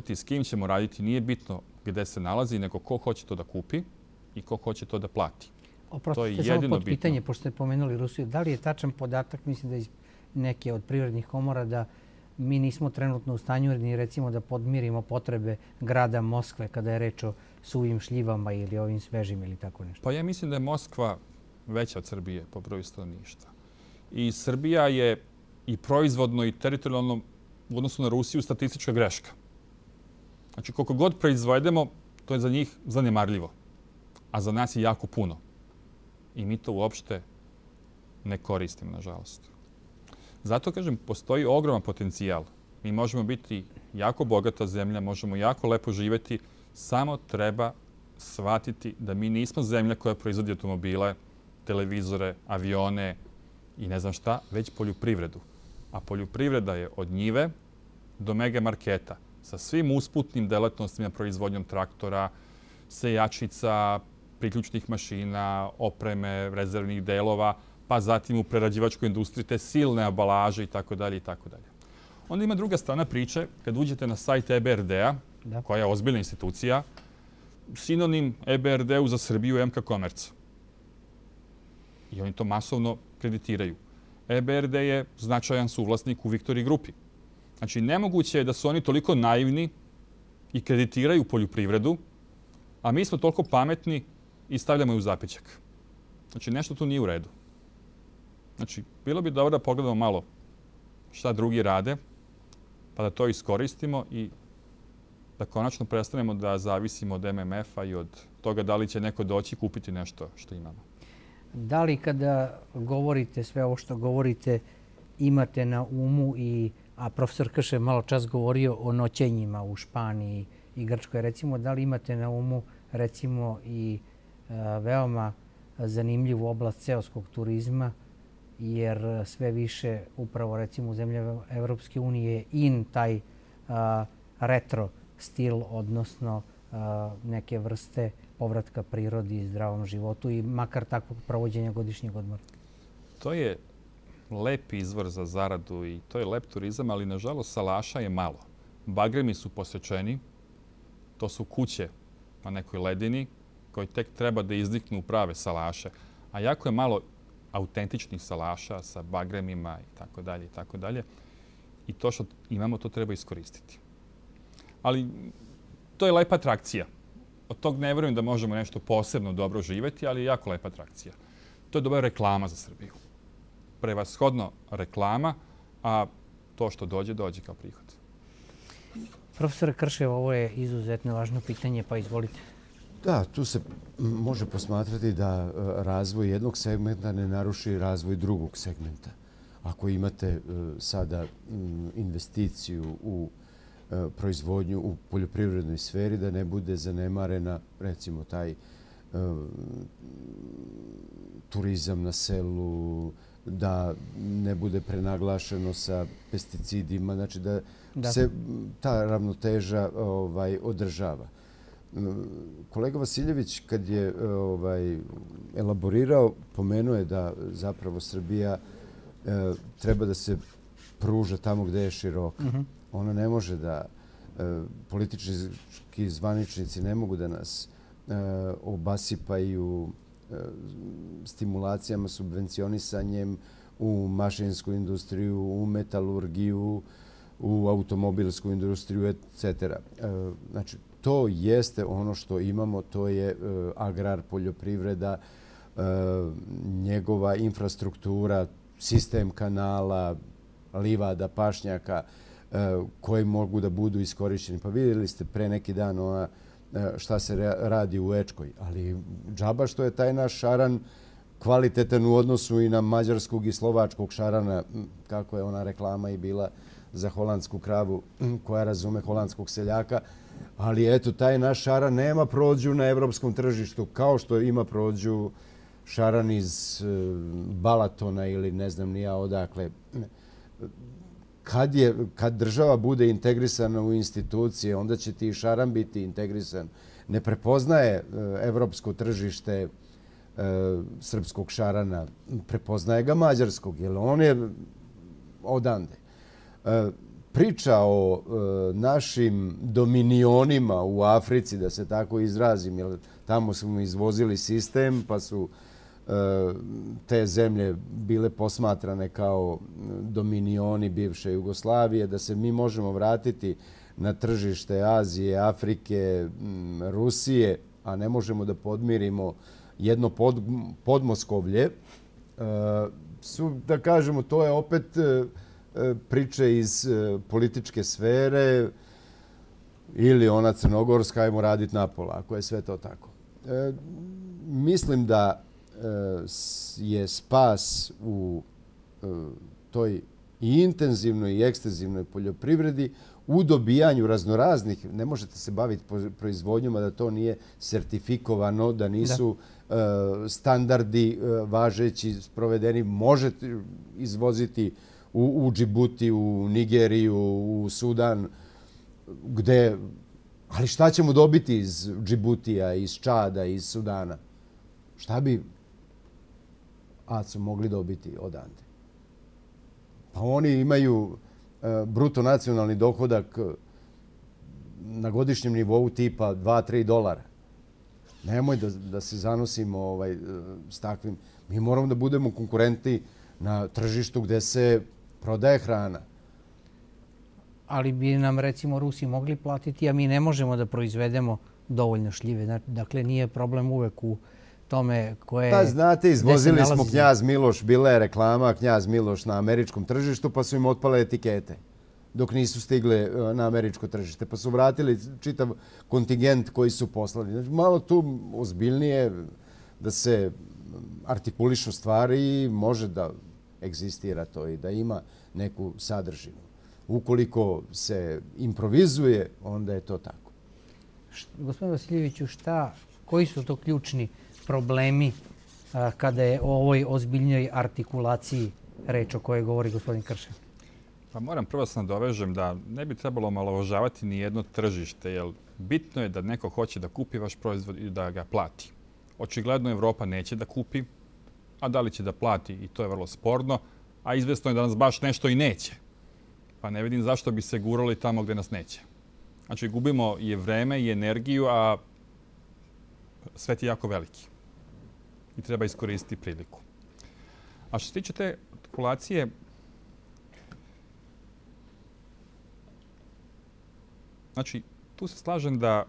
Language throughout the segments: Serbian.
raditi, s kim ćemo raditi, nije bitno gde se nalazi, nego ko hoće to da kupi i ko hoće to da plati. Oprostite, samo pod pitanje, pošto ste pomenuli Rusiju, da li je tačan podatak, mislim da iz neke od privrednih komora, da mi nismo trenutno u stanju ni recimo da podmirimo potrebe grada Moskve kada je reč o suvim šljivama ili ovim svežim ili tako nešto? Pa ja mislim da je Moskva veća od Srbije po broju stanovništva. I Srbija je i proizvodno i teritorijalno u odnosu na Rusiju statistička greška. Znači, koliko god proizvedemo, to je za njih zanemarljivo. A za nas je jako puno. I mi to uopšte ne koristimo, nažalost. Zato, kažem, postoji ogroman potencijal. Mi možemo biti jako bogata zemlja, možemo jako lepo živjeti, samo treba shvatiti da mi nismo zemlja koja proizvodi automobile, televizore, avione i ne znam šta, već poljoprivredu. A poljoprivreda je od njive do mega marketa sa svim usputnim delatnostima, proizvodnjom traktora, sejačica, priključnih mašina, opreme, rezervnih delova, pa zatim u prerađivačkoj industriji te silne ambalaže itd. itd. Onda ima druga strana priče, kad uđete na sajt EBRD-a, koja je ozbiljna institucija, sinonim EBRD-u za Srbiju je MK Komerc. I oni to masovno kreditiraju. EBRD je značajan suvlasnik u Viktoriji grupi. Znači, nemoguće je da su oni toliko naivni i kreditiraju poljoprivredu, a mi smo toliko pametni i stavljamo je u zapećak. Znači, nešto tu nije u redu. Znači, bilo bi dobro da pogledamo malo šta drugi rade, pa da to iskoristimo i da konačno prestanemo da zavisimo od MMF-a i od toga da li će neko doći i kupiti nešto što imamo. Da li kada govorite sve ovo što govorite, imate na umu a profesor Krš je malo čas govorio o noćenjima u Španiji i Grčkoj, recimo, da li imate na umu recimo i veoma zanimljivu oblast seoskog turizma, jer sve više upravo recimo u zemljama Evropske unije in taj retro stil, odnosno neke vrste povratka prirodi i zdravom životu i makar takvog provođenja godišnjeg odmora? To je lep izvor za zaradu i to je lep turizam, ali nažalost salaša je malo. Bagremi su posečeni, to su kuće na nekoj ledini koji tek treba da izniknu prave salaše, a jako je malo autentičnih salaša sa bagremima itd. itd. I to što imamo, to treba iskoristiti. Ali to je lepa atrakcija. Od tog ne verujem da možemo nešto posebno dobro živeti, ali je jako lepa atrakcija. To je dobra reklama za Srbiju. Prevashodno reklama, a to što dođe, dođe kao prihod. Profesor Kršev, ovo je izuzetno važno pitanje, pa izvolite. Da, tu se može posmatrati da razvoj jednog segmenta ne naruši razvoj drugog segmenta. Ako imate sada investiciju u proizvodnju u poljoprivrednoj sferi, da ne bude zanemarena, recimo, taj turizam na selu, da ne bude prenaglašeno sa pesticidima, znači da se ta ravnoteža održava. Kolega Vasiljević, kad je elaborirao, pomenuo je da zapravo Srbija treba da se pruža tamo gde je široka. Ona ne može da, politički zvaničnici ne mogu da nas obasipaju stimulacijama, subvencionisanjem u mašinsku industriju, u metalurgiju, u automobilsku industriju, etc. Znači, to jeste ono što imamo, to je agrar, poljoprivreda, njegova infrastruktura, sistem kanala, livada, pašnjaka koji mogu da budu iskorišćeni. Pa vidjeli ste pre neki dan šta se radi u Ečkoj, ali džaba što je taj naš šaran kvalitetan u odnosu i na mađarskog i slovačkog šarana, kako je ona reklama i bila za holandsku kravu koja razume holandskog seljaka. Ali eto, taj naš šaran nema prođu na evropskom tržištu, kao što ima prođu šaran iz Balatona ili ne znam ni ja odakle. Kad država bude integrisana u institucije, onda će ti šaran biti integrisan. Ne prepoznaje evropsko tržište srpskog šarana, prepoznaje ga mađarskog, jer on je odande. priča o našim dominionima u Africi, da se tako izrazim, jer tamo smo izvozili sistem, pa su te zemlje bile posmatrane kao dominioni bivše Jugoslavije, da se mi možemo vratiti na tržište Azije, Afrike, Rusije, a ne možemo da podmirimo jedno podmoskovlje, da kažemo, to je opet priče iz političke sfere ili ona crnogorska, ajmo raditi napola, ako je sve to tako. Mislim da je spas u toj i intenzivnoj i ekstenzivnoj poljoprivredi u dobijanju raznoraznih, ne možete se baviti proizvodnjom, a da to nije sertifikovano, da nisu standardi važeći, sprovedeni. Možete izvoziti u Džibuti, u Nigeriju, u Sudan, gdje... Ali šta ćemo dobiti iz Džibutija, iz Čada, iz Sudana? Šta bi ACO mogli dobiti odande? Pa oni imaju bruto nacionalni dohodak na godišnjem nivou tipa $2-3. Nemoj da se zanosimo s takvim. Mi moramo da budemo konkurenti na tržištu gdje se prodaje hrana. Ali bi nam, recimo, Rusi mogli platiti, a mi ne možemo da proizvedemo dovoljno šljive. Dakle, nije problem uvek u tome koje... Pa znate, izvozili smo Knjaz Miloš, bila je reklama Knjaz Miloš na američkom tržištu, pa su im otpale etikete dok nisu stigle na američko tržište. Pa su vratili čitav kontingent koji su poslali. Znači, malo tu ozbiljnije da se artikulišu stvari i može da egzistira to i da ima neku sadržinu. Ukoliko se improvizuje, onda je to tako. Gospodin Vasiljeviću, koji su to ključni problemi kada je o ovoj ozbiljnoj artikulaciji reč o kojoj govori gospodin Kršen? Pa moram prvo se nadovežem da ne bi trebalo omalovažavati ni jedno tržište, jer bitno je da neko hoće da kupi vaš proizvod i da ga plati. Očigledno Evropa neće da kupi, a da li će da plati, i to je vrlo sporno, a izvesno je da nas baš nešto i neće. Pa ne vidim zašto bi se gurali tamo gdje nas neće. Znači, gubimo i vreme i energiju, a svet je jako veliki. I treba iskoristiti priliku. A što se tiče te artikulacije, znači, tu se slažem da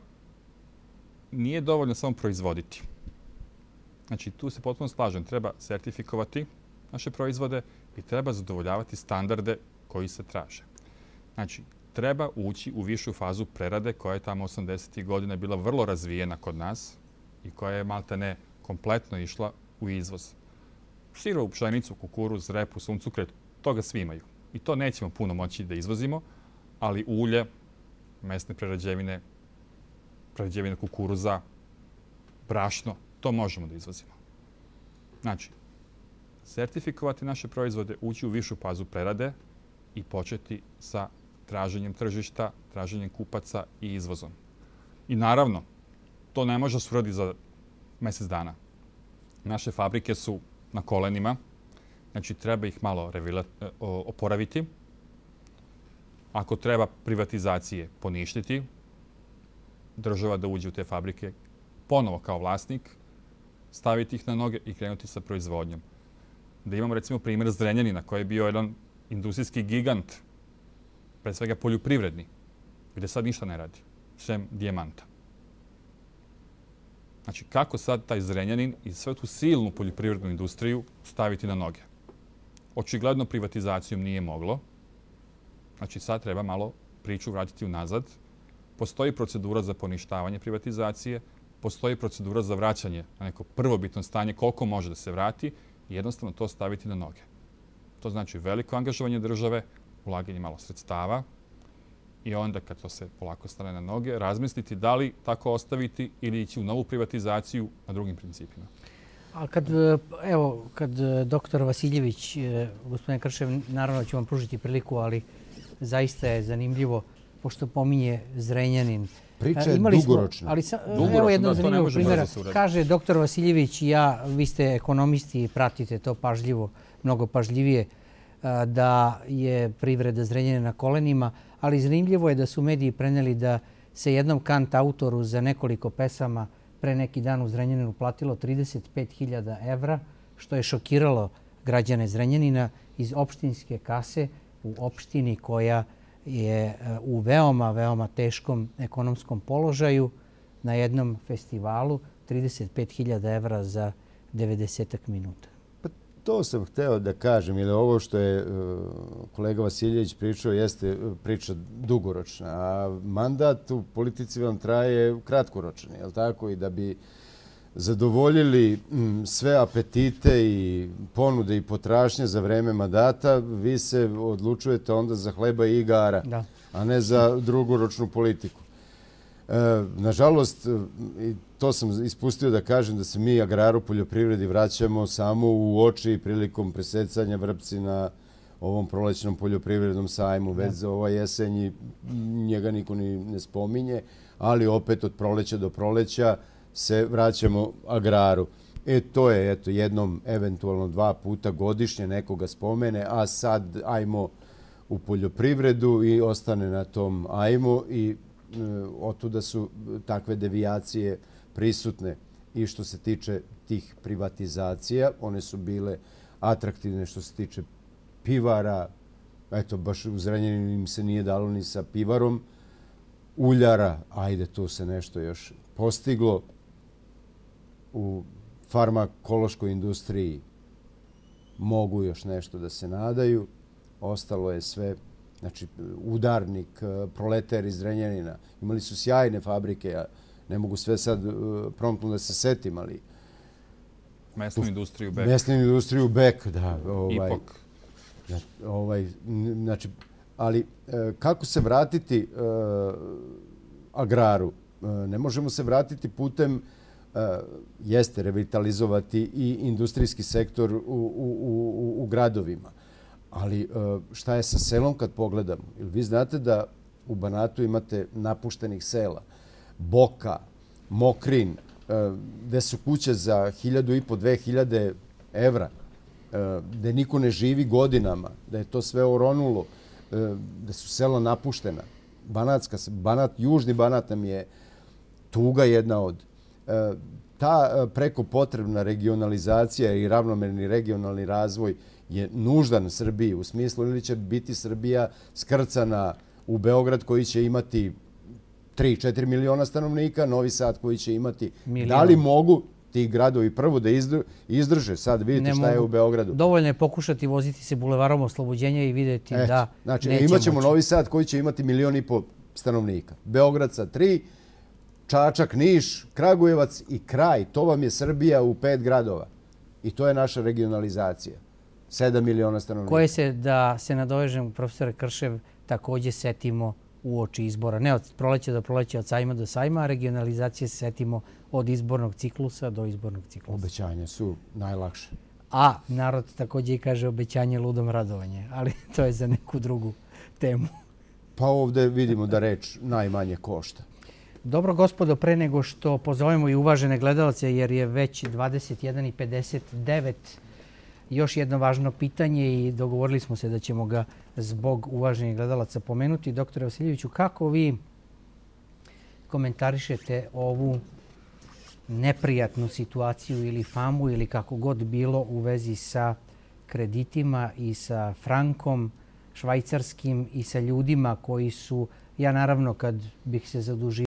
nije dovoljno samo proizvoditi. Znači, tu se potpuno slažem. Treba sertifikovati naše proizvode i treba zadovoljavati standarde koji se traže. Znači, treba ući u višu fazu prerade koja je tamo 80. godina bila vrlo razvijena kod nas i koja je maltene kompletno išla u izvoz. Sirovu pšenicu, kukuruz, repu, suncokret, toga svi imaju. I to nećemo puno moći da izvozimo, ali ulje, mesne prerađevine, prerađevine kukuruza, brašno, to možemo da izvozimo. Znači, sertifikovati naše proizvode, ući u višu fazu prerade i početi sa traženjem tržišta, traženjem kupaca i izvozom. I naravno, to ne može se uraditi za mjesec dana. Naše fabrike su na kolenima, znači treba ih malo oporaviti. Ako treba privatizacije poništiti, država da uđe u te fabrike ponovo kao vlasnik, staviti ih na noge i krenuti sa proizvodnjom. Da imamo recimo primjer Zrenjanina koji je bio jedan industrijski gigant, pre svega poljoprivredni, gdje sad ništa ne radi, sem dijamanta. Znači, kako sad taj Zrenjanin i sve tu silnu poljoprivrednu industriju staviti na noge? Očigledno privatizacijom nije moglo. Znači, sad treba malo priču vratiti unazad. Postoji procedura za poništavanje privatizacije, postoji procedura za vraćanje na neko prvobitno stanje koliko može da se vrati i jednostavno to staviti na noge. To znači veliko angažovanje države, ulaganje malo sredstava i onda kad to se polako stane na noge, razmisliti da li tako ostaviti ili ići u novu privatizaciju na drugim principima. A kad doktor Vasiljević, gospodine Kršev, naravno ću vam pružiti priliku, ali zaista je zanimljivo, pošto pominje Zrenjanin. Priča je dugoročna. Evo jedno zanimljivo primjera. Kaže doktor Vasiljević, vi ste ekonomisti i pratite to pažljivo, mnogo pažljivije. da je privreda Zrenjanina na kolenima, ali zanimljivo je da su mediji preneli da se jednom kant autoru za nekoliko pesama pre neki dan u Zrenjaninu platilo 35.000 evra, što je šokiralo građane Zrenjanina iz opštinske kase u opštini koja je u veoma, veoma teškom ekonomskom položaju na jednom festivalu 35.000 evra za 90 minuta. Pa to sam hteo da kažem, jer ovo što je kolega Vasiljević pričao jeste priča dugoročna, a mandat u politici vam traje kratkoročni, je li tako? I da bi zadovoljili sve apetite i ponude i potražnje za vreme mandata, vi se odlučujete onda za hleba i igara, a ne za drugoročnu politiku. Nažalost, to sam ispustio da kažem da se mi agraru poljoprivredi vraćamo samo u oči prilikom presecanja vrpci na ovom prolećnom poljoprivrednom sajmu. Već za ova jesenji njega niko ni ne spominje, ali opet od proleća do proleća se vraćamo agraru. To je jednom, eventualno 2 puta godišnje nekoga spomene, a sad ajmo u poljoprivredu i ostane na tom ajmo i otuda su takve devijacije prisutne. I što se tiče tih privatizacija, one su bile atraktivne što se tiče pivara. Eto, baš u Zrenjaninu im se nije dalo ni sa pivarom. Uljara, ajde, tu se nešto još postiglo. U farmakološkoj industriji mogu još nešto da se nadaju. Ostalo je sve, znači, Udarnik, Proleter iz Zrenjanina. Imali su sjajne fabrike, ja ne mogu sve sad promptno da se setim, ali... Mesnu industriju Bek. Mesnu industriju Bek, da. Ipok. Znači, ali kako se vratiti agraru? Ne možemo se vratiti putem jeste revitalizovati i industrijski sektor u gradovima. Ali šta je sa selom kad pogledamo? Vi znate da u Banatu imate napuštenih sela. Boka, Mokrin, gde su kuće za 1.500, 2.000 evra, gde niko ne živi godinama, da je to sve oronulo, da su sela napuštena. Južni Banat nam je tuga jedna od. Ta preko potrebna regionalizacija i ravnomerni regionalni razvoj je nuždan Srbiji u smislu ili će biti Srbija skrcana u Beograd koji će imati 3-4 miliona stanovnika, Novi Sad koji će imati... Da li mogu ti gradovi prvo da izdrže? Sad vidite šta je u Beogradu. Dovoljno je pokušati voziti se bulevarom Oslobođenja i vidjeti da znači, neće imat ćemo moći. Novi Sad koji će imati 1,5 miliona stanovnika. Beograd sa 3, Čačak, Niš, Kragujevac i kraj. To vam je Srbija u 5 gradova. I to je naša regionalizacija. 7 miliona stanovnika. Koje se, da se nadovežem, profesore Kršev, također setimo uoči izbora. Ne od proleća do proleća, od sajma do sajma, a regionalizacije se setimo od izbornog ciklusa do izbornog ciklusa. Obećanja su najlakše. A narod također i kaže obećanje ludom radovanje, ali to je za neku drugu temu. Pa ovdje vidimo da reč najmanje košta. Dobro, gospodo, pre nego što pozovemo i uvažene gledalce, jer je već 21:59, još jedno važno pitanje i dogovorili smo se da ćemo ga zbog uvaženih gledalaca pomenuti. Doktore Vasiljeviću, kako vi komentarišete ovu neprijatnu situaciju ili famu ili kako god bilo u vezi sa kreditima i sa frankom švajcarskim i sa ljudima koji su, ja naravno kad bih se zadužio